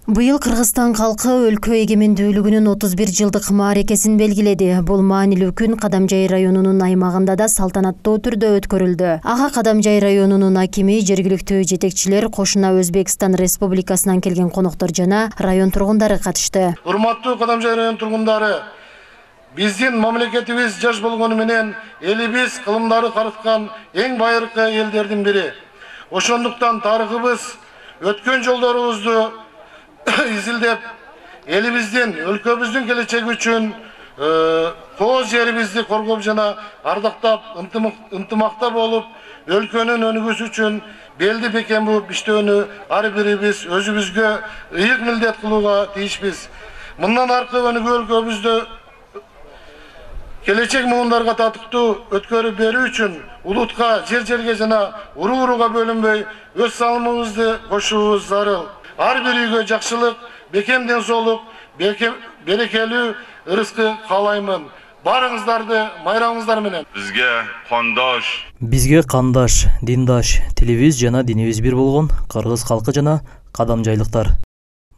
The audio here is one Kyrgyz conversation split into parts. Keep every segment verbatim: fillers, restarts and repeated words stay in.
Быйыл Кыргызстан калкы өлкө эгемендүүлүгүнүн отуз бир жылдык мааракесин белгиледи. Бул маанилүү күн Кадамжай районунун аймагында да салтанаттуу түрдө өткөрүлдү. Ага Кадамжай районунун акими, жергиликтүү жетекчилер, кошуна Өзбекстан Республикасынан келген коноктор жана район тургундары катышты. Урматтуу Кадамжай район тургундары, биздин мамлекетибиз жаш болгону менен элибиз кылымдары карыткан эң байыркы элдердин бири. Ошондуктан тарыхыбыз, өткөн жолдорубузду изилдеп, элибиздин, өлкөбүздүн келечеги үчүн кооз жерибизди коргоп жана ардактап, ынтымакта болуп, өлкөнүн өнүгүүсү үчүн белди бекем буп иштөөнү ар бирибиз өзүбүзгө ыйык милдет кылууга тийишпиз. Мындан аркы өнүгүү өлкөбүздү келечек муундарга татыктуу өткөрүп берүү үчүн улутка, жер-жерге жана уру-уруга бөлүнбөй өз салымыбызды кошуубуз зарыл. Ар бир үйгө жакшылык, бекем ден соолук, берекелүү ырыскы каалаймын. Барыңыздарды майрамыңыздар менен. Бизге кондош. Бизге кандаш, диндаш, тилибиз жана динибиз бир болгон кыргыз калкы жана кадамжайлыктар.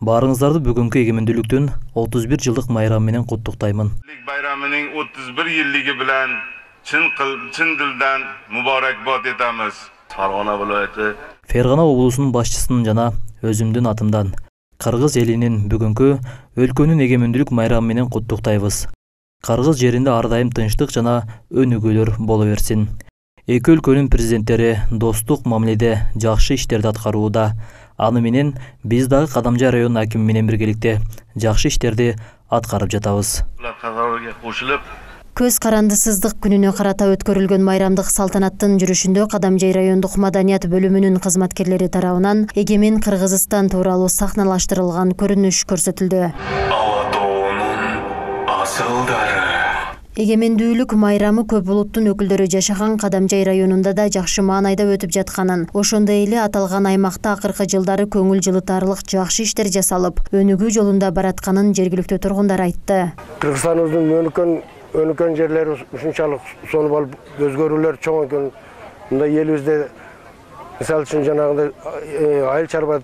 Барыңыздарды бүгүнкү эгемендүүлүктүн отуз бир жылдык майрамы менен куттуктаймын. Байрамынын отуз бир жылдыгы менен чын чын дилден мубаракбат этебиз. Фаргана viloyati Фергана облусунун башчысынын жана өзүмдүн атымдан кыргыз элинин бүгүнкү өлкөнүн эгемендүүлүк майрамы менен куттуктайбыз. Кыргыз жеринде ар дайым тынчтык жана өнүгүүлөр боло берсин. Эки өлкөнүн президенттери достук мамиледе жакшы иштерди аткарууда. Аны менен биз дагы Кадамжай районунун акими менен биргеликте жакшы иштерди аткарып жатабыз. Көз карандысыздык күнүнө карата өткөрүлгөн майрамдык салтанаттын жүрүшүндө Кадамжай райондук маданият бөлүмүнүн кызматкерлери тарабынан эгемен Кыргызстан тууралуу сахналаштырылган көрүнүш көрсөтүлдү. Эгемендүүлүк майрамы көп улуттун өкүлдөрү жашаган Кадамжай районунда да жакшы маанайда өтүп жатканын, ошондой эле аталган аймакта акыркы жылдары көңүл жылытарлык жакшы иштер жасалып, өнүгүү жолунда баратканын жергиликтүү тургундар айтты. Кыргызстаныбыздын өнүккөн өнүккөн жерлери ушунчалык сонун болуп, өзгөрүүлөр чоң экен. Мында элибизде мисалы үчүн жанагындай айыл чарба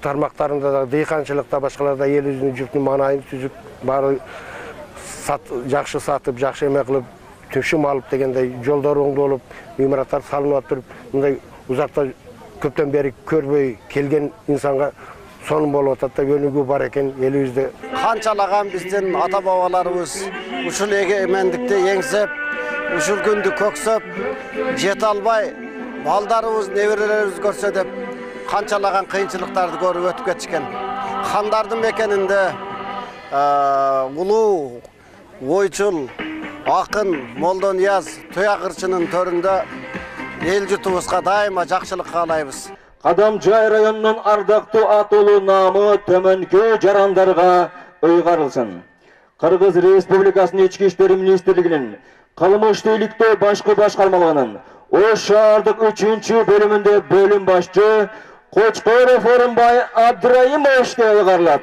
тармактарында да, дыйканчылыкта, башкаларда элибиздин жұрттун маанайын түзүп, баары жакшы сатып, жакшы эме кылып, төшүм алып дегендей жолдор оңдолуп, имараттар салынып атып, мындай узакта көптөн бери көрбөй келген инсанга сонун болуп атат да, өнүгүү бар экен элибизде. Канчалаган биздин ата бабаларыбыз ушул эгемендикти эңсеп, ушул күндү көксөп, жете албай, балдарыбыз, неберелерибиз көрсө деп канчалаган кыйынчылыктарды көрүп өтүп кетишкен. Хандардын мекенинде улуу ойчул, акын Молдонияз Туякырчынын төрүндө эл жутубузга дайыма жакшылык каалайбыз. Кадамжай районунун ардактуу атуулуу наамы төмөнкү жарандарга ыйгарылсын. Кыргыз Республикасынын Ички иштер министрлигинин кылмыштуу иликтөө башкы башкармалыгынын Ош шаардык үчүнчү бөлүмүндө бөлүм башчы Кочкоров Орунбай Абдрайымовичке ыйгарылат.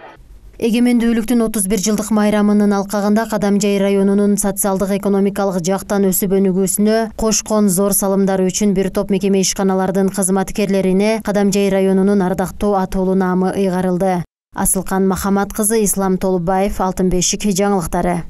Эгемендүүлүктүн отуз бир жылдык майрамынын алкагында Кадамжай районунун социалдык экономикалык жактан өсүп өнүгүүсүнө кошкон зор салымдары үчүн бир топ мекеме ишканалардын кызматкерлерине Кадамжай районунун ардактуу атуулуу наамы ыйгарылды. Асылкан Махамат кызы, Ислам Толубаев, Алтын бешик жаңылыктары.